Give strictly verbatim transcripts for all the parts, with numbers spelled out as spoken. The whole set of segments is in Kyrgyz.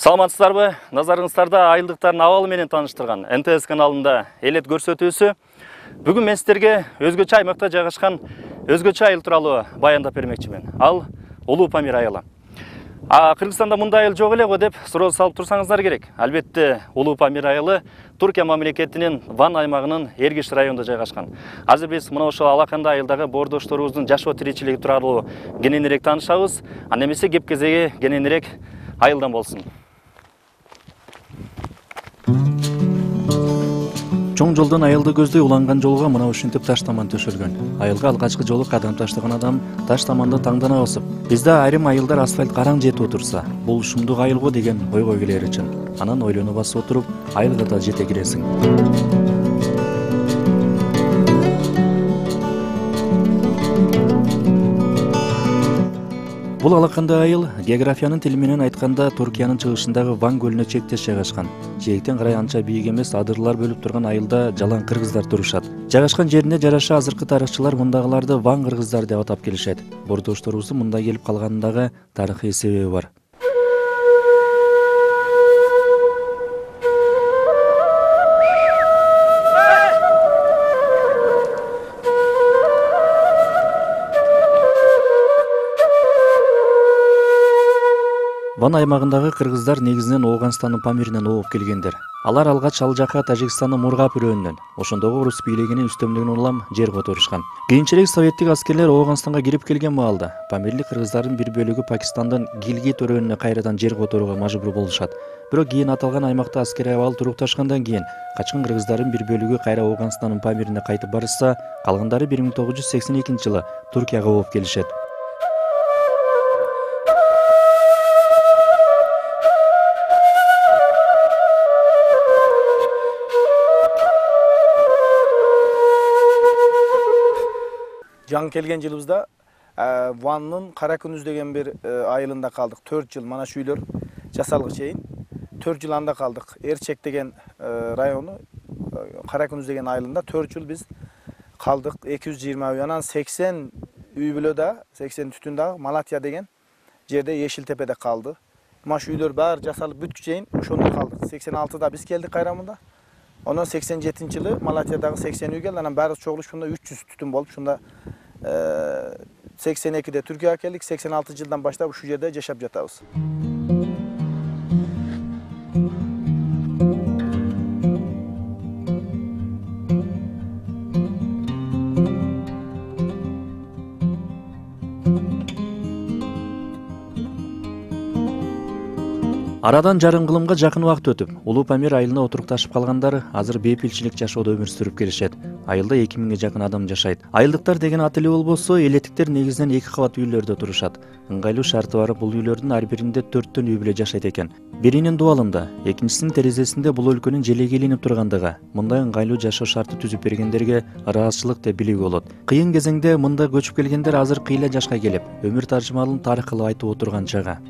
Саламатсыздарбы? Назарыңыздарда айылдыктардын абалы менен тааныштырган Н Т С каналында элет көрсөтүүсү. Бүгүн мен сиздерге өзгөчө аймакта жайгашкан өзгөчө айыл тууралуу баяндап бермекчимин. Ал Улуу Памир айылы. А Кыргызстанда мындай айыл жок эле го деп суроо салып турсаңыздар керек. Албетте, Улуу Памир айылы Түркия мамлекетинин Ван аймагынын Эргиш районунда жайгашкан. Азыр биз мына ошол алакандай айылдагы боордошторубуздун жашоо тиричилиги тууралуу кененирээк таанышабыз. Анда эмесе кеп кезеги кененирээк айылдан болсун. Чоң жолдон айылды көздөй уланган жолго мына ушинтип таш таман төшөлгөн. Айылга алгачкы жолу кадам таштаган адам таш таманды таңдана басып, бизде айрым айылдар асфальт караң жетип отурса, бул шумдук айыл го деген ойго келер үчүн. Анан ойлоно басып отуруп, айылга да жете киресиң. Бул алакандай айыл географиянын тили менен айтканда Түркиянын чыгышындагы Ван көлүнө чектеш жайгашкан. Жээктен карай анча бийик эмес адырлар бөлүп турган айылда жалаң кыргыздар турушат. Жайгашкан жерине жараша азыркы тарыхчылар мындагыларды Ван кыргыздар деп атап келишет. Боордошторубуздун мында келип калганындагы тарыхый себеби бар. Ван аймагындагы кыргыздар негизинен Ооганстандын Памиринен ооп келгендер. Алар алгач ал жака Тажикстандын Мургап өрөөнүнөн, ошондогу орус бийлигинин үстөмдүгүн улам жер которушкан. Кийинчерээк советтик аскерлер Ооганстанга кирип келген маалда памирлик кыргыздардын бир бөлүгү Пакистандан Гилгит өрөөнүнө кайрадан жер которууга мажбур болушат. Бирок кийин аталган аймакта аскерий абал турукташкандан кийин качкан кыргыздардын бир бөлүгү кайра Ооганстандын Памирине кайтып барышса, калгандары бир миң тогуз жүз сексен экинчи жылы Түркияга ооп келишет. Жаңы келген жылыбызда Ваннын Кара Күнүз деген бир айылында калдык. төрт жыл мана шүйлөр жасалгы чейин төрт жыл анда калдык. Эрчек деген району Кара Күнүз деген айылында төрт жыл биз калдык. эки жүз жыйырма үй, анан сексен үй бүлөдө, сексен түтүн дагы Малатия деген жерде Ешил Тепеде калды. Маш үйлөр баары жасалып бүткү чейин ошондо калдык. сексен алтыда биз келдик кайрамында. Онон сексен жетинчи жылы Малатиядагы сексен үй келди. Анан баары чогулушуп үч жүз түтүн болуп, шунда сексен экиде Түркияга келдик. сексен алты жылдан баштап ушул жерде жашап жатабыз. Арадан жарым кылымга жакын убакыт өтүп, Улуу Памир айылына отурукташып калгандар азыр бейпилчилик жашоодо өмүр сүрүп келишет. Айылда эки миңге жакын адам жашайт. Айылдыктар деген ат эле болбосо, элеттиктер негизинен эки кабат үйлөрдө турушат. Ыңгайлуу шарты бар бул үйлөрдүн ар биринде төрттөн үй бүлө жашайт экен. Биринин дубалында, экинчисинин терезесинде бул өлкөнүн желеги илинип тургандыгы, мындай ыңгайлуу жашоо шарты түзүп бергендерге ыраазычылык деп билүүгө болот. Кыйын кезеңде мында көчүп келгендер азыр кыйла жашка келип, өмүр таржымалын тарых кылып айтып отурган чага.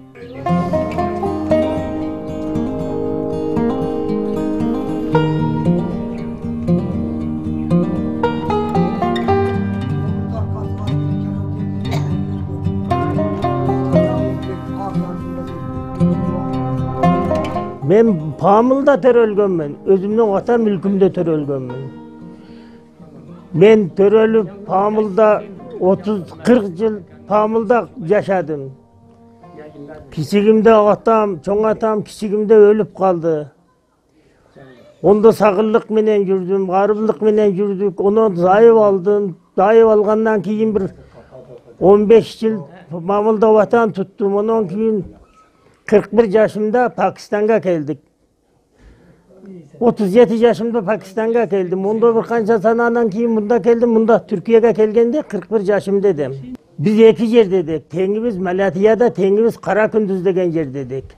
Мен Памылда төрөлгөнмүн, өзүмдүн ата мүлкүмдө төрөлгөнмүн. Мен төрөлүп Памылда отуз кырк жыл Памылда жашадым. Кичигимде атам, чоң атам кичигимде өлүп калды. Ондо сагырлык менен жүрдүм, арыбылык менен жүрдүк. Онон зайып алдым. Зайып алгандан кийин бир он беш жыл Памылда ватан туттум. Онон кийин кырк бир жашымда Пакистанга келдик. отуз жети жашымда Пакистанга келдим. Мында бир канча санадан кийин мында келдим. Мында Түркияга келгенде кырк бир жашымда едим. Биз эки жерде едик. Теңибиз Малатияда, теңибиз Кара Күндүз деген жерде едик.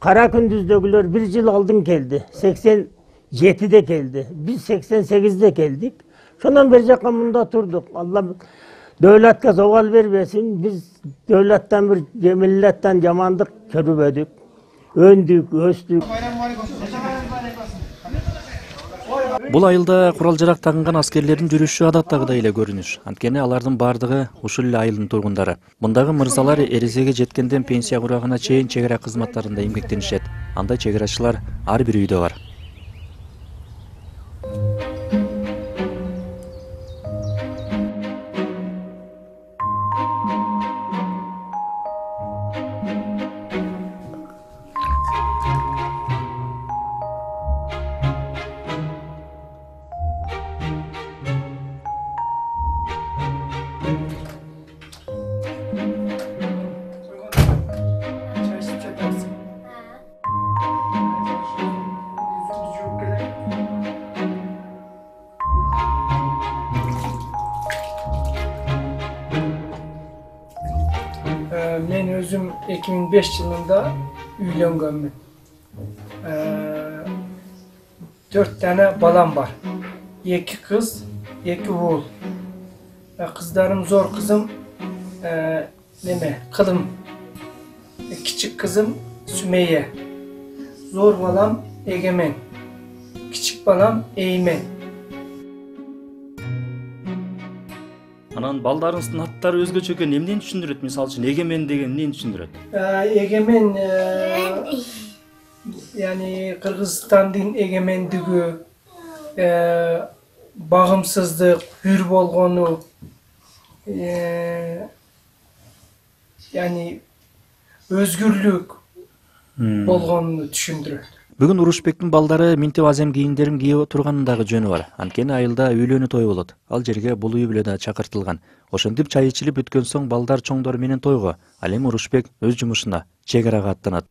Кара Күндүздөгүлөр бир жыл алдын келди. сексен жетиде келди. Биз сексен сегизде келдик. Шонон бер жака мында турдук. Алла Devletке зовал бербесин, biz devletten bir milletten yamandık körübödük, öndük, östük. Бул айылда курал жарак тагынган аскерлердин жүрүшү адаттагыдай эле көрүнүш. Анткени алардын бардыгы ушул эле айылдын тургундары. Мындагы мырзалар эресеге жеткенден пенсия курагына чейин чек ара кызматтарында эмгектенишет. Андай чек арачылар ар бир үйдө бар. Men özüm iki ming besh yılında uylanganman. Dört tane balam var. İki kız, iki oğul. Kızlarım zor kızım, neme, Kılım. Küçük kızım Sümeyye. Zor balam Egemen. Küçük balam Eymen. Анан балдарыңыздын аттары өзгөчө экен, эмнени түшүндүрөт? Мисалы үчүн Эгемен деген эмнени түшүндүрөт? Egemen, yani Kırgızstandın egemendigi, bağımsızlık, hür bolgonu, yani özgürlük bolgonunu düşündürөт. Бүгүн Урушбектин балдары минтип азем кийимдерин кийип турганын дагы жөнү бар. Анткени айылда үйлөнүү тою болот. Ал жерге бул үй бүлө да чакыртылган. Ошентип чай ичилип бүткөн соң балдар чоңдор менен тойго, ал эми Урушбек өз жумушуна, чек арага аттанат.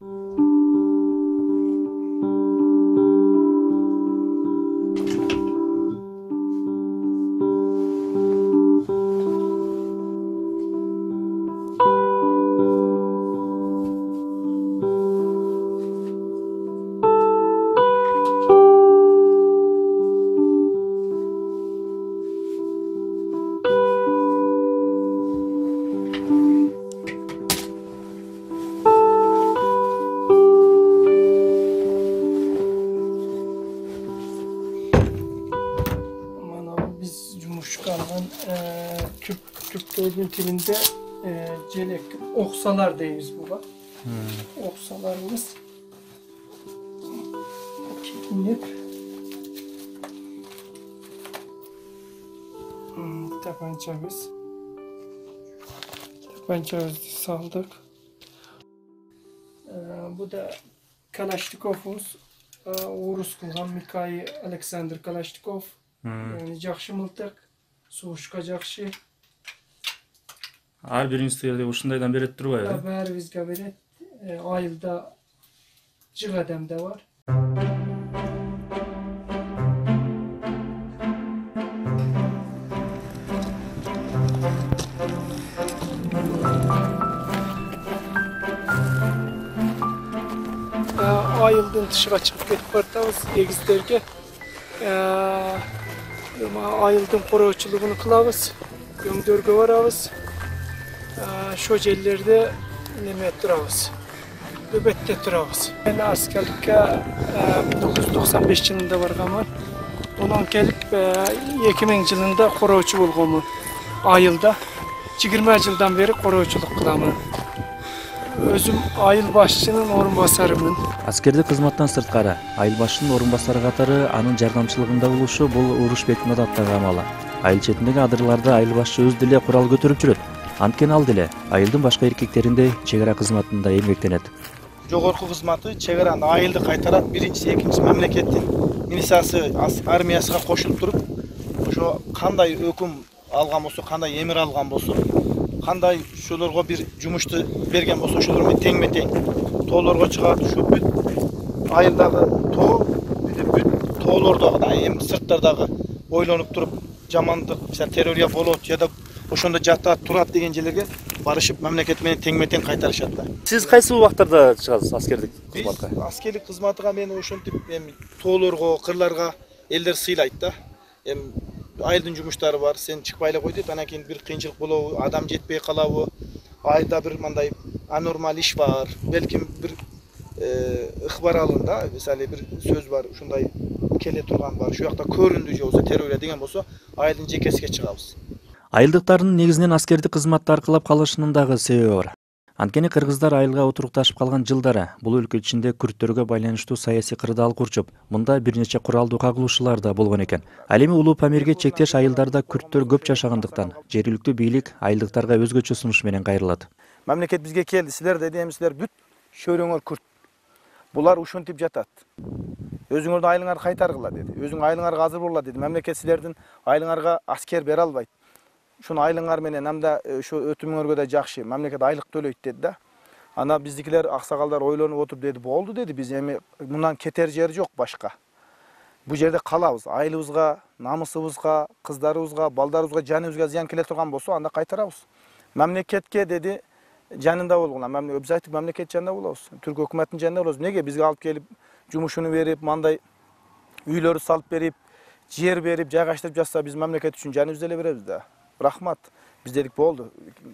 Türk Türklerin tilinde e, celek, oksalar deyimiz bu bak. Hmm. Oksalarımız inip hmm, tabancamız tabancamızı saldık. E, bu da Kalaşnikov'umuz, e, Urus kılgan Mikhail Alexander Kalaşnikov. Hmm. Yani jakşı mıltık, soğuşka jakşı. Ар бириңизге ушундайдан берет турбайбы? Баарыбызга берет. Айылда жык адам да бар. Айылдын тышыга чыгып кетип баратабыз эгиздерге. Айылдын короочулугун кылабыз. Көңдөргө барабыз. Şu yerlerde neme turabız, nöbette turabız. Ben askerlikке bin dokuz yüz doksan beş yılında barganman. Ondan kelip iki ming yılında koroçu bolganman. Ayılda yigirme yıldan beri koroçuluk kılaman. Özüm айыл башчынын орун басарымын. Аскердик кызматтан сырткары айыл башчынын орун басары катары анын жардамчылыгында болушу бул Урушбектин адаттагы амалы. Айыл четиндеги адырларда айыл башчы өз деле курал көтөрүп жүрөт. Анткени ал деле айылдын башка эркектериндей чек ара кызматында эмгектенет. Жогорку кызматы чек араны айылды кайтарат, биринчиси, экинчиси мамлекеттин милициясы, армиясыга кошулуп туруп, ошо кандай өкүм алган болсо, кандай эмир алган болсо, кандай ошолорго бир жумушту берген болсо, ошолор менен теңме-тең тоолорго чыгат. Ушу бүт айылдагы тоо, бүт тоолордогу да, эми сырттардагы ойлонуп туруп, жамандык, террория болот же да ошондо жатат, турат деген жерлерге барышып, мамлекет менен теңме-тең кайтарышат да. Сиз кайсы убактарда чыгасыз аскердик кызматка? Биз аскерлик кызматыга мен ошентип эми тоолорго, кырларга элдер сыйлайт да. Эми айылдын жумуштары бар, сен чыкпай эле кой дейт, анан кийин бир кыйынчылык болобу, адам жетпей калабы, айылда бир мындай анормал иш бар, белким бир ыкбар алында мисалы бир сөз бар, ушундай келе турган бар, şu жакта көрүндү же болсо терөөлө деген болсо, айылдын жекесине чыгабыз. Айылдыктардын негизинен аскердик кызматты аркылап калышынын дагы себеби бар. Анткени кыргыздар айылга отурукташып калган жылдары бул өлкө ичинде күрттөргө байланыштуу саясий кырдаал курчуп, мында бир нече куралдуу кагылышуулар да болгон экен. Ал эми Улуу Памирге чектеш айылдарда күрттөр көп жашагандыктан жергиликтүү бийлик айылдыктарга өзгөчө сунуш менен кайрылат. Мамлекет бизге келди, силер деди, эми силер бүт шөрөңөр күрт. Булар ушинтип жатат. Өзүңөрдүн айылыңарды кайтаргыла деди. Өзүң айылыңарга азыр болгула деди. Мамлекет силердин айылыңарга аскер бере албайт. Ушуну айылыңар менен амда ушу өтүмүңөргө да жакшы, мамлекет айлык төлөйт деди да. Ана биздикилер аксагалдар ойлонуп отуруп деди, болду деди, биз эми мындан кетер жер жок башка. Бу жерде калабыз, айылыбызга, намысыбызга, кыздарыбызга, балдарыбызга, жаныбызга зыян келе турган болсо, анда кайтарабыз. Мамлекетке деди, жанында болгула. Биз айттык, мамлекет жанында болобуз. Түрк өкмөтүнүн жанында болобуз. Неге бизге алып келип, жумушуну берип, мындай үйлөрү салып берип, жер берип, жайгаштырып жатса, биз мамлекет үчүн жаныбызды эле беребиз да. Рахмат. Биз дедик, болду,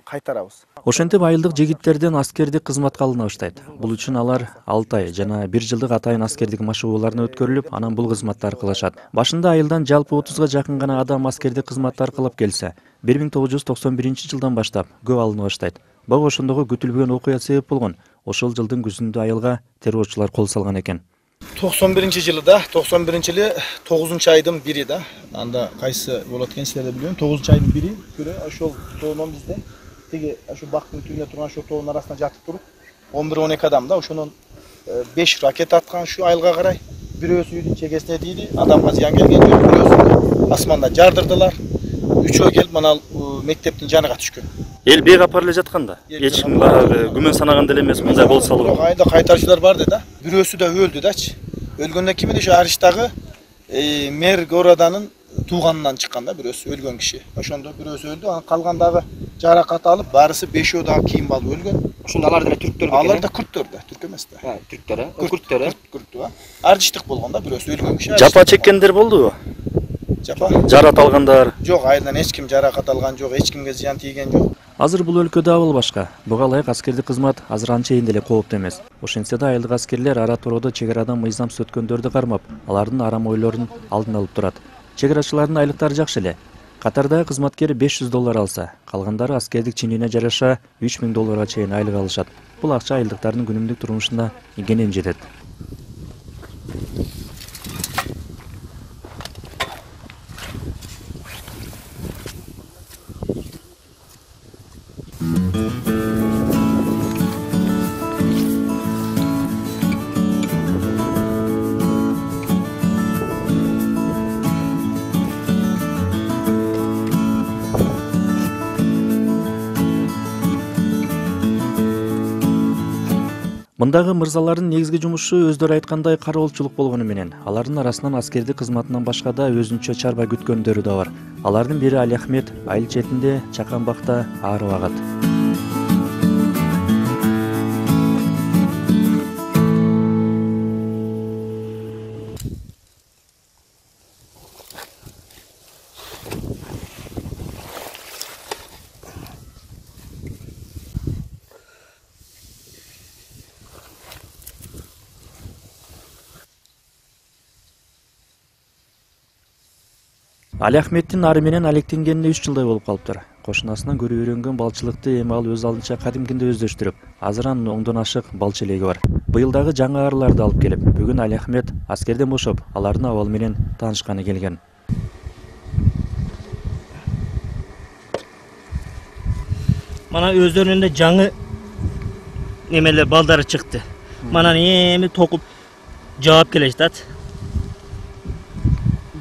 кайтарабыз. Ошентип айылдык жигиттерден аскердик кызматка алына баштайт. Бул үчүн алар алты ай жана бир жылдык атайын аскердик машыгууларына өткөрүлүп, анан бул кызматтарды кылышат. Башында айылдан жалпы отузга жакын гана адам аскердик кызматты аркылап келсе, бир миң тогуз жүз токсон биринчи жылдан баштап көп алына баштайт. Бага ошондогу күтүлбөгөн окуя себеп болгон. Ошол жылдын күзүндө айылга террорчулар кол салган экен. токсон биринчи жылы да, токсон биринчи жылы тогузунчу айдын бири да. Анда кайсы болот экен силер да билбейм. тогузунчу айдын бири күнү ошол тоонон бизде тиги ошо бактын түбүнө турган ошол тоонун арасында жатып туруп, он бир он эки адам да, ошонун беш ракета аткан ушу айылга карай. Бирөөсү үйдүн чегесине тийди, адамга зыян келген жок, бирөөсү асманда жардырдылар. Үчөө келип мына мектептин жаныга түшкөн. Эл бейгапар эле жатканда, эч ким баягы күмөн санаган деле эмес, мындай болсо болот. Айылда кайтарчылар бар да. Бирөөсү да өлдү дачы. Өлгөндөн кийин эле ошо Арыштагы мэр городанын тууганынан чыккан да, бирөөсү өлгөн киши. Ошондо бирөөсү өлдү, анан калгандагы жаракат алып, барысы бешөө дагы кийим алып өлгөн. Ошондо алар деле түрктөр бекен. Алар да күрттөр да, түрк эмес да. Ha, түрктөр, күрттөр. Күрттөр. Ардыштык болгон да, бирөөсү өлгөн киши. Жапа чеккендер болдубу? Жапа. Жарат алгандар. Жок, айылдан эч ким жаракат алган жок, эч кимге зыян тийген жок. Азыр бул өлкөдө абал башка. Буга ылайык аскердик кызмат азыр анчейин деле кооптуу эмес. Ошентсе да айылдык аскерлер ара туроодо чек арадан мыйзамсыз өткөндөрдү кармап, алардын арам ойлорун алдын алып турат. Чек арачылардын айлыктары жакшы эле. Катардагы кызматкер беш жүз доллар алса, калгандары аскердик чинине жараша үч миң долларга чейин айлык алышат. Бул акча айылдыктардын күнүмдүк турмушуна кенен жетет. Мындагы мырзалардын негизги жумушу өздөрү айткандай кароолчулук болгону менен, алардын арасынан аскердик кызматынан башка да өзүнчө чарба күткөндөрү да бар. Алардын бири Али Ахмет айыл четинде чакан бакта ары багат. Али Ахметтин ары менен алектенгенине үч жылдай болуп калыптыр. Кошунасынан көрүп үйрөнгөн балчылыкты эми ал өз алдынча кадимкинде өздөштүрүп, азыр анын оңдон ашык балчы элеги бар. Быйыл дагы жаңы арыларды алып келип, бүгүн Али Ахмет аскерден бошоп, алардын абалы менен таанышканы келген. Мана өздөрүнүн да жаңы немелер балдары чыкты. Мана эми токуп жаап келе жатат.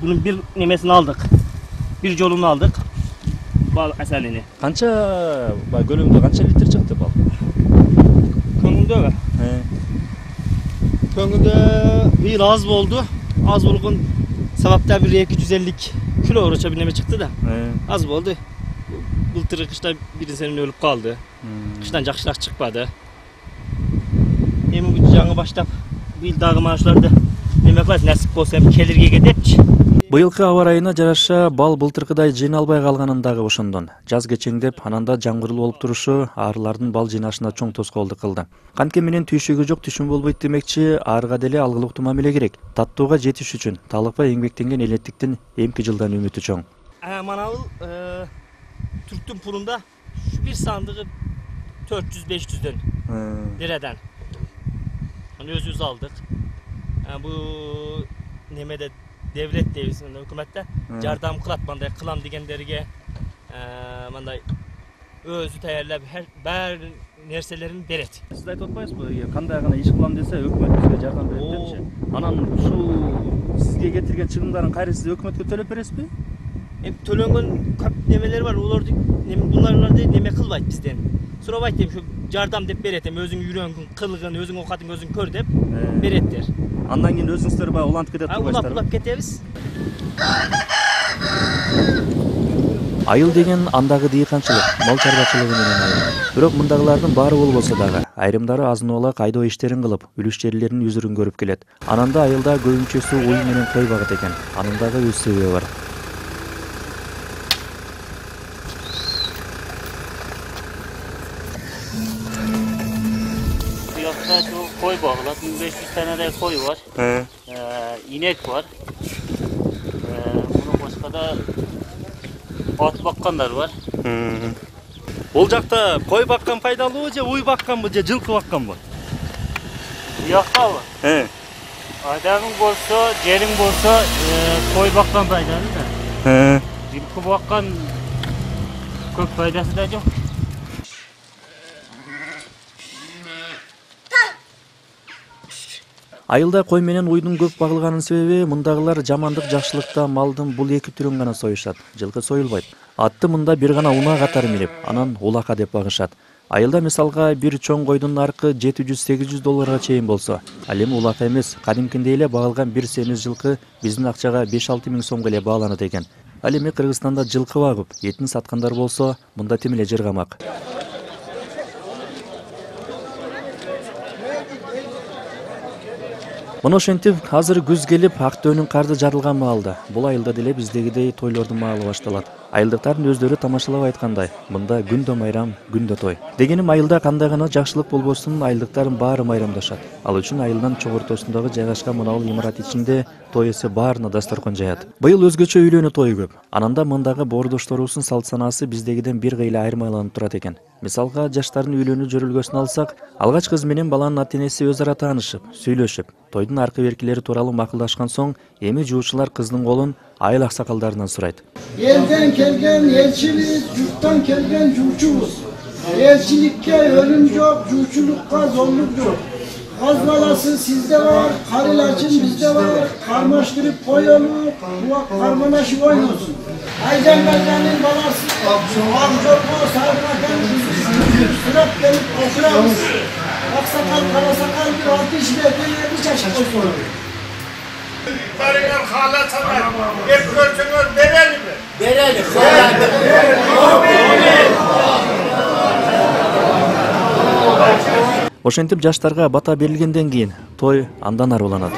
Bunun bir nemesini aldık. Bir jolunu aldık. Bal asalini. Kança gölüngde kança litre çıktı bal? Köngünde mi? He. Köngünde bir az oldu. Az olgun sebepten bir iki yüz elli kilo uğraşa bir neme çıktı da. He. Az oldu. Bultırı kışta biri senin ölüp kaldı. Hmm. Kıştan jakşılak çıkmadı. Emin bu жаңы başlap bir dağı maaşlarda neme kılas nasip olsa kelirge gedepçi. Быйылкы аба ырайына жараша бал былтыркыдай жыйналбай калганын дагы ошондон. Жаз кечеңдеп, ананда жаңгырлуу болуп турушу арылардын бал жыйнашына чоң тоскоолдук кылды. Кантке менен түйшүгү жок түшүм болбойт демекчи, арыга деле алгылыктуу мамиле керек. Таттууга жетиш үчүн талыкпай эмгектенген элеттиктин эмки жылдан үмүтү чоң. Mana bu e, Türktün pulunda şu bir sandığı dört yüz beş yüzden liradan. Hani özümüz aldık. Yani bu nemede devlet devisinde hükümette yardam kılat banday kılam degenlerge e, banday özü tayarlap her ber nerselerini beret. Siz aytып атпайсызбы, кандай гана иш кылам десе өкмөт бизге жардам берет депчи. Анан ушул сизге кетирген чыгымдарын кайра сиз өкмөткө төлөп бересизби? Hem tölengen kap nemeler var, olurdu bunlarla da neme kılbayt bizden. Sonra bayt deyip şu yardam dep beretem, özün yürüyengin, kılgın, özün okatın, özün kör dep beretler. Andan keyin өзүңүздөр баягы улантып кетет турбайсыздар. Улап улап кетебиз. Айыл деген андагы дыйканчылык, мал чарбачылыгы менен айыл. Бирок мындагылардын баары болбосо дагы айрымдары азын-ола кайдоо иштерин кылып, үлүш жерлеринин үзүрүн көрүп келет. Ананда айылда көбүнчөсү уй менен кой багыт экен. Анын дагы өз себеби бар. Koy bağlat, bin beş yüz tane de koy var, ee, inek var, ee, bunun başka da at bakkanlar var. Ол жакта кой баккан пайдалуу же уй бакканбы же жылкы бакканбы? Bu yakta var. He. Adamın bolsa, yerin bolsa koy bakkan faydalı da. He. Жылкы bakkan көп faydası da yok. Айылда кой менен уйдун көп багылганын себеби мындагылар жамандык жакшылыкта малдын бул эки түрүн гана союшат. Жылкы союлбайт. Атты мында бир гана унаа катары минип, анан улака деп багышат. Айылда мисалга бир чоң койдун наркы жети жүз сегиз жүз долларга чейин болсо, ал эми улака эмес, кадимкиндей эле багылган бир семиз жылкы биздин акчага беш алты миң сомго эле бааланат экен. Ал эми Кыргызстанда жылкы багып, этин саткандар болсо, мында тим эле жыргамак. Мына ошентип, азыр күз келип, Актөөнүн карды жарылган маалда. Бул айылда деле биздегидей тойлордун маалы башталат. Айылдыктардын өздөрү тамашалап айткандай, мында күндө майрам, күндө той. Дегеним айылда кандай гана жакшылык болбосун, айылдыктардын баары майрамдашат. Ал үчүн айылдын чогортосундагы жайгашкан мына бул имарат ичинде той эсе баарына дасторкон жаят. Быйыл өзгөчө үйлөнүү тою көп. Ананда мындагы боордошторубуздун салт санаасы биздегиден бир кыйла айырмаланып турат экен. Мисалга, жаштардын үйлөнүү жөрөлгөсүн алсак, алгач кыз менен баланын ата-энеси өз ара таанышып, сүйлөшүп, тойдун аркы беркилери тууралуу макулдашкан соң, эми жуучулар кыздын колун айыл аксакалдарынан сурайт. Elden kelgen elçimiz, yurttan kelgen juuçubuz. Elçilikке ölüm yok, juuçulukka zorluk yok. Kaz balası sizde var, kar ilacın bizde var. Karmaştırıp koyalım, kulak karmanaşı oynuyorsun. Aycan Gazan'ın balası, Amcorbo, Sarınakan, Sırat gelip oturamız. Aksakal, karasakal bir altı işine böyle bir çeşit olsun. Karılar hala sana hep görsünüz verelim mi? Verelim. Ошентип жаштарга бата берилгенден кийин той андан аруланат.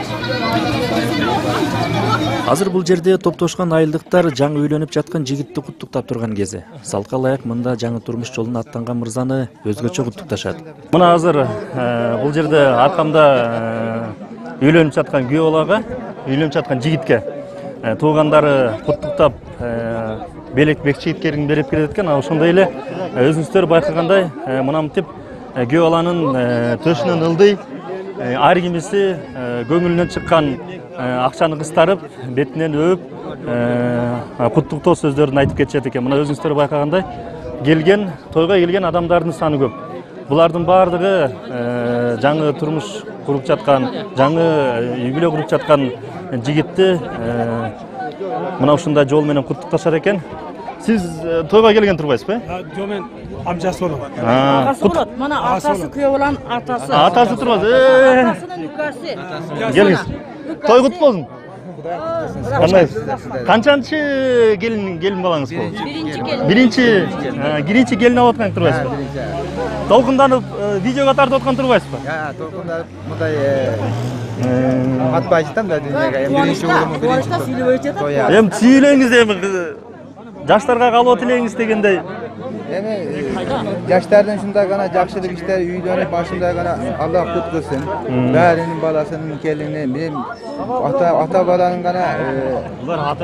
Азыр бул жерде топтошкон айылдыктар жаңы үйлөнүп жаткан жигитти куттуктап турган кези. Салка ылайык мында жаңы турмуш жолуна аттанган мырзаны өзгөчө куттукташат. Мына азыр бул жерде аркамда үйлөнүп жаткан күйөө балага, үйлөнүп жаткан жигитке туугандары куттуктап белек бек чийиткерин берип келет экен. Ошондой эле өзүңүздөр байкагандай мынамтип күйөө баланын төшүнөн ылдый, ар кимиси көңүлүнөн чыккан акчаны кыстарып, бетинен өөп, куттуктоо сөздөрүн айтып кетишет экен. Мына өзүңүздөр байкагандай келген, тойго келген адамдардын саны көп. Булардын баардыгы жаңы турмуш куруп жаткан, жаңы үй бүлө куруп жаткан жигитти мына ушундай жол менен куттукташат экен. Сиз тойго келген турбайсызбы? Жок, мен амжасы болом. Агасы болот. Мына атасы күйөө баланын атасы. Атасы турбайсыз. Атасынын үкасы. Келиңиз. Той кут болсун. Кандайсыз? Канчанчы келин келин балаңыз болду? Биринчи келин. Биринчи, биринчи келин алып аткан турбайсызбы? толкунданып видеого тартып аткан турбайсызбы? Жок, толкунданып мындай атпай жатам да дүйнөгө. Эми биринчи улумун биринчи той. Эми сүйлөңүз эми жаштарга калоо тилеңиз дегендей. Эми жаштардын ушундай гана жакшылык иштер үйлөнүп ушундай гана Аллах кут кылсын. Баарынын баласынын келини, мен ата ата баланын гана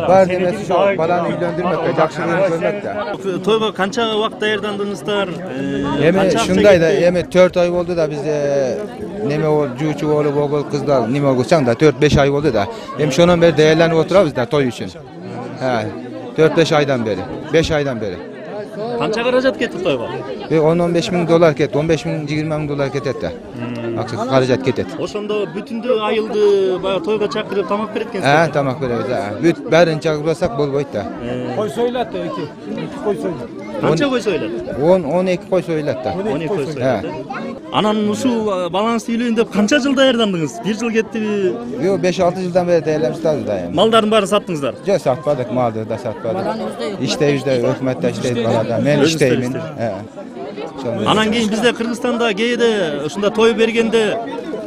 бар эмес ошо баланы үйлөндүрмөккө, жакшылыгын көрмөккө. Тойго канча убакыт даярдандыңыздар? Эми ушундай да, эми төрт ай болду да бизде неме болуп, жуучу болуп, огул кыздар неме болсаң да төрт беш ай болду да. Эми ошондон бери даярданып отурабыз да той үчүн. Ha, төрт беш айдан бeri, беш айдан beri. Канча каражат кетти тойго? он он беш миң доллар кетти, он беш миң жыйырма миң доллар кетет да. Акча каражат кетет. Ошондо бүтүндө айылды баягы тойго чакырып тамак берет экенсиз. Ha, тамак беребиз. Бүт бәрин чакырбасак болбойт да. Кой сойлат да эки. Кой сойлат. Канча кой сойлат? он он эки кой сойлат да. он эки кой сойлат. Анан ушул балаңызды үйлөйүн деп канча жыл даярдандыңыз? бир жыл кеттиби? Жок, беш алты жылдан бeri даярдабыз да эми. Малдардын баарын саттыңыздар? Жок, сатпадык, малды да сатпадык. Иштейбизде, өкмөттө иштейт балада. Мен иштеймин. Анан кийин бизде Кыргызстанда кээде ушунда той бергенде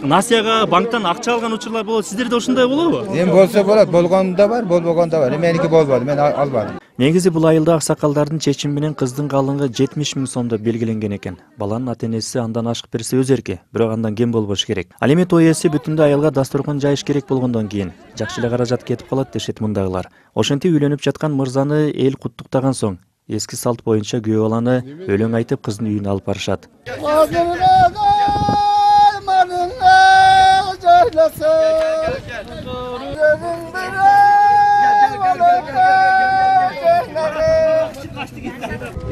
насияга банктан акча алган учурлар болот. Сиздерде ушундай болобу? Эми болсо болот, болгону да бар, болбогону да бар. Меники болбоду, мен албадым. Негизи бул айылда аксакалдардын чечими менен кыздын калыңы жетимиш миң сомдо белгиленген экен. Баланын ата энеси андан ашык берсе өз эрки, бирок андан кем болбош керек. Ал эми той ээси бүтүндө айылга дасторкон жайыш керек болгондон кийин жакшы эле каражат кетип калат дешет мындагылар. Ошентип үйлөнүп жаткан мырзаны эл куттуктаган соң эски салт боюнча күйөө баланы өлөң айтып кыздын үйүнө алып барышат.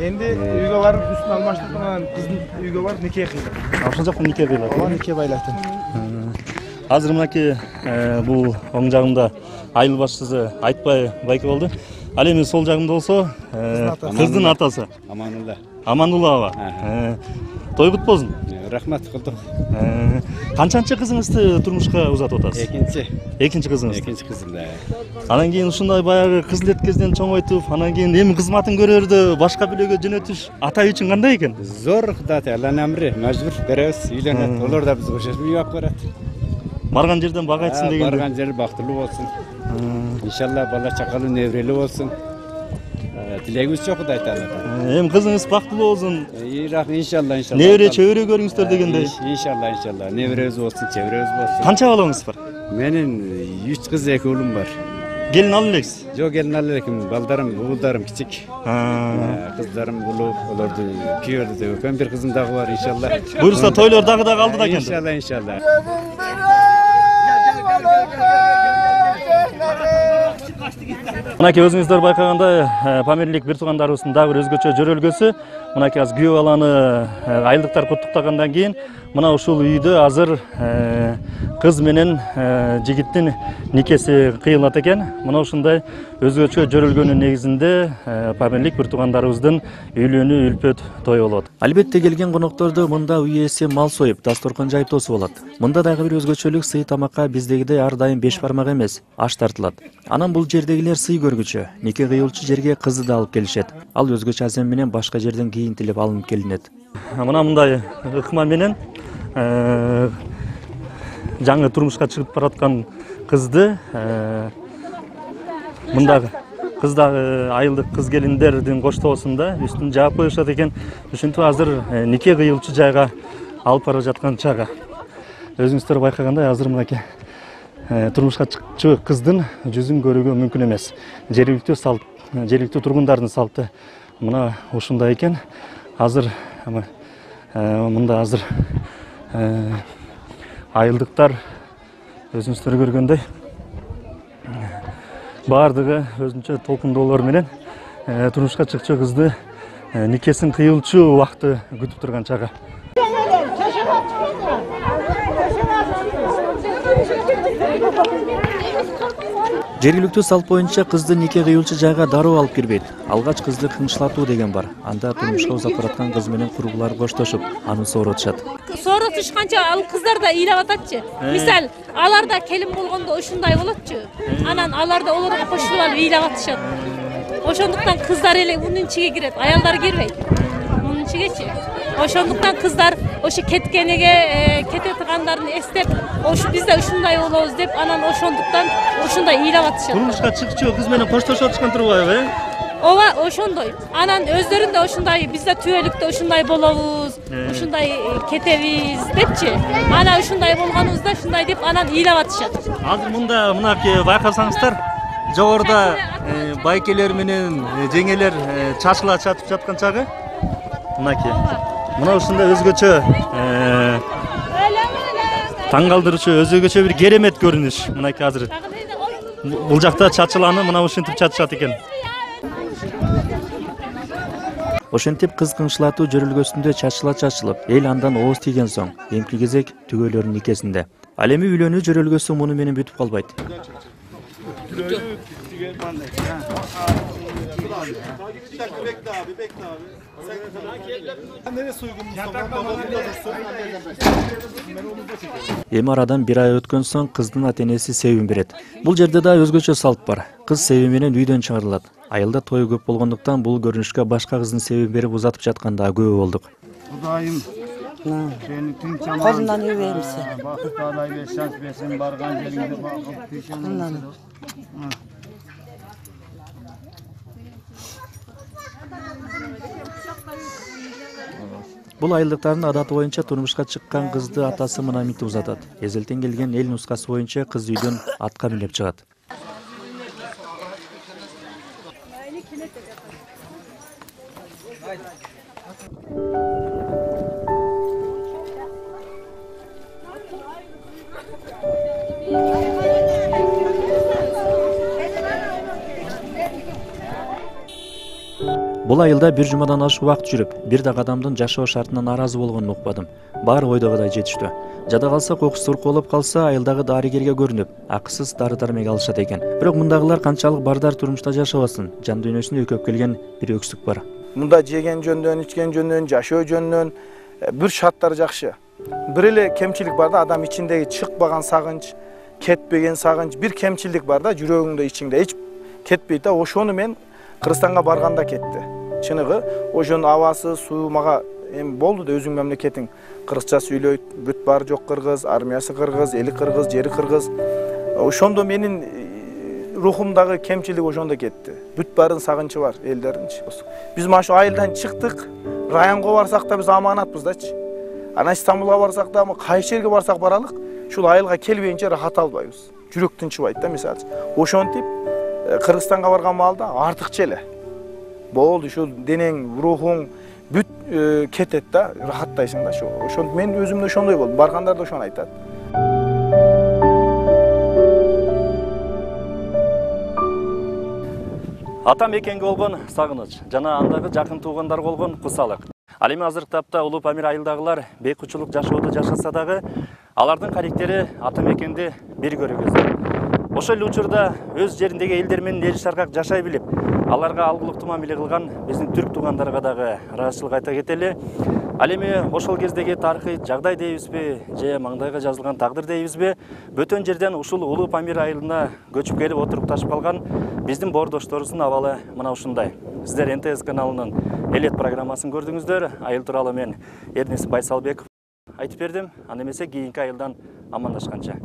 Endi uyga barıp üstüne almaştık ama kızın uyga barıp nikah kıydı. Ошол жактан нике кыйлат. Ооба, нике байлаттым. Азыр мынакей бул оң жагымда айыл башчысы Айтбай байке болду. Ал эми сол жагымда болсо кыздын атасы Аманулла. Аманулла аба. Той кут болсун. Рахмат кылдык. Канчанчы кызыңызды турмушка узатып атасыз? Экинчи. Экинчи кызыңыз. Экинчи кызым да. Анан кийин ушундай баягы кыз леткезден чоңойтуп, анан кийин эми кызматын көрөрдө башка бөлөгө жөнөтүш ата үчүн кандай экен? Зор Кудат, Алланын амры, мажбур беребиз, үйлөнөт. Олар да бизге ошо үй алып барат. Барган жерден бак айтсын деген. Барган жери бактылуу болсун. Иншалла бала чакалуу небрелүү болсун. Тилегибиз жок Кудай тааладан. Эми кызыңыз бактылуу болсун. Иншалла, иншалла. Небере чөбөрө көрүңүздөр дегендей. Иншалла, иншалла. Неберебиз болсун, чөбөрөбүз болсун. Канча балаңыз бар? Менин үч кыз, эки уулум бар. Келин алып элексиз? Жок, келин алып элекмин. Балдарым, уулдарым кичик. Кыздарым улуу, олорду күйөрдү деп өкөм. Бир кызым дагы бар, иншалла. Буюрса тойлор дагы да калды да экен. Иншалла, иншалла. Мынакей өзүңүздөр байкагандай Памирлик бир туугандарыбыздын дагы бир өзгөчө жөрөлгөсү. Мынакей азыр күйөө баланы айылдыктар куттуктагандан кийин мына ушул үйдө азыр кыз менен жигиттин никеси кыйылат экен. Мына ушундай өзгөчө жөрөлгөнүн негизинде Памирлик бир туугандарыбыздын үйлөнүү үлпөт той болот. Албетте келген конокторду мында үй ээси мал союп, дасторкон жайып тосуп алат. Мында дагы бир өзгөчөлүк сый тамакка биздегидей ар дайым беш бармак эмес, аш тартылат. Анан бул жердегилер сый көргүчө, нике кыйылчу жерге кызды да алып келишет. Ал өзгөчө азем менен башка жерден кийинтилип алынып келинет. Мына мындай ыкма менен жаңы турмушка чыгып бараткан кызды мындагы кыз дагы айылдык кыз келиндердин коштоосунда үстүн жаап коюшат экен. Ушинтип азыр нике кыйылчу жайга алып бара жаткан чагы. Өзүңүздөр байкагандай азыр мынакей турмушка чыкчу кыздын жүзүн көрүүгө мүмкүн эмес. Жергиликтүү салт, жергиликтүү тургундардын салты мына ушундай экен. Азыр мында азыр айылдыктар өзүңүздөр көргөндөй баардыгы өзүнчө толкундоолор менен турмушка чыкчу кызды никесин кыйылчу убакты күтүп турган чагы. Жергиликтүү салт боюнча кызды нике кыйылчу жайга дароо алып кирбейт. Алгач кызды кыңшылатуу деген бар. Анда турмушка узап бараткан кыз менен курбулар коштошуп, аны сооротушат. Сооротушканча ал кыздар да ыйлап ататчы. Мисал, алар да келин болгондо ушундай болотчу. Анан алар да олорго кошулуп алып ыйлап атышат. Ошондуктан кыздар эле мунун ичиге кирет, аялдар кирбейт. Мунун ичигечи. Ошондуктан кыздар ошо кеткениге кете тургандарын эстеп, ошо биз да ушундай болобуз деп, анан ошондуктан ушундай ыйлап атышат. Турмушка чыкчу кыз менен коштошуп атышкан турбайбы, э? Ооба, ошондой. Анан өздөрүн да ушундай, биз да түбөлүктө ушундай болобуз, ушундай кетебиз депчи. Анан ушундай болгонубузда ушундай деп анан ыйлап атышат. Азыр мында мынакей байкасаңыздар, жогоруда байкелер менен жеңелер чачыла чатып жаткан чагы. Мынакей. Мына ушундай өзгөчө таң калтыруучу, өзгөчө бир керемет көрүнүш. Мынакей азыр бул жакта чачыланы мына ушинтип чачышат экен. Ошентип кыз кыңшылатуу жөрөлгөсүндө чачыла чачылып, эл андан ооз тийген соң, эмки кезек түгөйлөрдүн никесинде. Ал эми үйлөнүү жөрөлгөсү муну менен бүтүп калбайт. Эми арадан бир ай өткөн соң кыздын ата-энеси себим берет. Бул жерде да өзгөчө салт бар. Кыз себим менен үйдөн чыгарылат. Айылда той көп болгондуктан бул көрүнүшкө башка кыздын себим берип узатып жатканда күбө болдук. Кудайым сени тынч аман үйбеймсиң. Бакыт алай бер, шанс берсин, барган жериңде бакыт тийсең. Бул айылдыктардын адаты боюнча турмушка чыккан кызды атасы мына минтип узатат. Эзелтен келген эл нускасы боюнча кыз үйдөн атка минип чыгат. Бул айылда бир жумадан ашык убакыт жүрүп, бир да адамдын жашоо шартынан наразы болгонун укпадым. Баары ойдогудай жетиштүү. Жада калса кокустур болуп калса айылдагы дарыгерге көрүнүп, акысыз дары дармек алышат экен. Бирок мындагылар канчалык бардар турмушта жашабасын, жан дүйнөсүнө өкөп келген бир өксүк бар. Мында жеген жөндөн, ичкен жөндөн, жашоо жөндөн бир шарттар жакшы. Бир эле кемчилик бар да, адам ичиндеги чыкпаган сагынч, кетпеген сагынч, бир кемчилик бар да, жүрөгүңдө ичиңде эч кетпейт да. Ошону мен Кыргызстанга барганда кетти. Чыныгы, ошонун абасы, суу мага эми болду да, өзүң мамлекетиң кыргызча сүйлөйт, бүт бар жок кыргыз, армиясы кыргыз, эли кыргыз, жери кыргыз. Ошондо менин рухумдагы кемчилик ошондо кетти. Бүт барын сагынчы бар элдердинчи. Биз маш айылдан чыктык, районго барсак да биз аманатпыз дачы. Анан Стамбулга барсак да, кайсы жерге барсак баралык, ушул айылга келбейинче рахат албайбыз. Жүрөк тынчыбайт да, мисалы. Ошентип Кыргызстанга барган маалда артыкча эле болду, ушул денең, рухуң бүт кетет да, рахаттайсың да. Ошондо мен өзүмдө ошондой болдум. Баргандар да ошону айтат. Ата мекенге болгон сагыныч жана андагы жакын туугандар болгон кусалык. Ал эми азыркы тапта Улуу Памир айылдагылар бейкучулук жашоодо жашаса дагы, алардын карактери ата мекенди бир көрөгөздөр. Ошол эле учурда өз жериндеги элдер менен эл шаркак жашай билип, аларга алгылыктуу мамиле кылган биздин түрк туугандарга дагы ыраазычылык айта кетели. Ал эми ошол кездеги тарыхый жагдай дейбизби, же маңдайга жазылган тагдыр дейбизби, бөтөн жерден ушул Улуу Памир айылына көчүп келип отурукташып калган биздин боордошторубуздун абалы мына ушундай. Сиздер эн тэ эс каналынын Элет программасын көрдүңүздөр. Айыл тууралуу мен Эрнис Байсалбеков айтып бердим. Анда эмесе кийинки айылдан амандашканча.